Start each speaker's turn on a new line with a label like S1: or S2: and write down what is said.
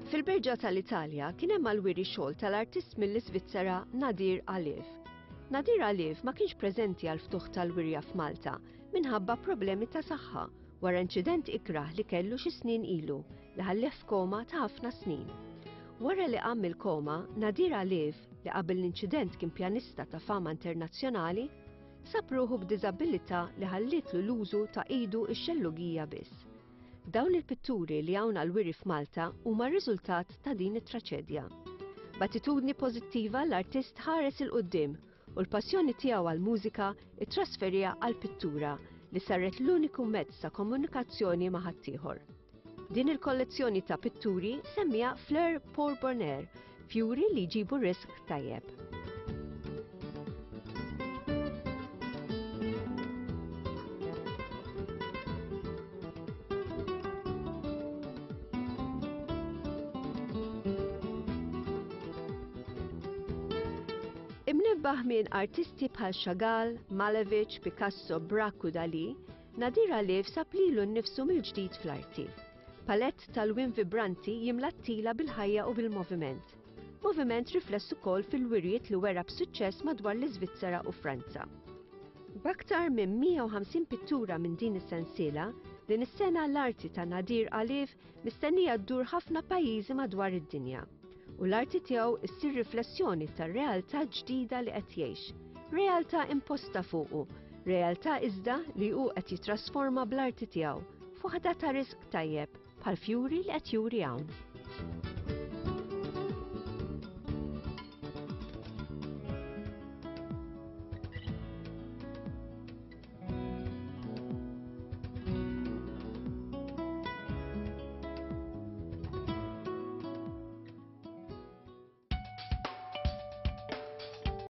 S1: Fil-Berġa tal-Italja kien hemm għall-wiri xogħol tal-artist mill-Iżvizzera Nadir Aliv. Nadir Aliv ma kienx preżenti għall-ftuħ tal-wirja f'Malta minħabba problemi ta' saħħa wara inċident ikrah li kellu xi snin ilu li ħallih f'koma ta' ħafna snin. Wara li qam mill-koma, Nadir Aliv, li qabel l-inċident kien pjanista ta' fama internazzjonali, sab ruħu b'diżabilità li ħallietlu l-użu ta' idu x-xellugija biss. Dawn il-pitturi li hawn għall-wiri f'Malta huma r-riżultat ta' din it-traċedja. B'attitudni pożittiva l-artist ħares 'il quddiem u l-passjoni tiegħu għall-mużika ttrasferiha għall-pittura li saret l-uniku mezz ta' komunikazzjoni ma' ħaddieħor. Din il-kollezzjoni ta' pitturi semmiha Fleur pour Bonheur, fjuri li jġibu risq tajjeb. Imnebbaħ minn artisti bħal Chagall, Malevich, Picasso, Braque u Dalí, Nadir Aliv sab lilu nnifsu mill-ġdid fl-arti. Palett ta' lwien vibranti jimla t-tila bil-ħajja u bil-moviment. Moviment rifless ukoll fil-wirjiet li wera b'suċċess madwar l-Iżvizzera u Franza. B'aktar minn 150 pittura minn din is-sensiela, din is-sena l-arti ta' Nadir Aliv mistennija ddur ħafna pajjiżi madwar id-dinja. U l-arti tiegħu ssir riflessjoni tar-realtà ġdida li qed jgħix. Realtà imposta fuqu, realtà iżda li hu qed jittrasforma bl-arti tiegħu f'waħda ta' risq tajjeb bħall-fjuri li qed juri hawn.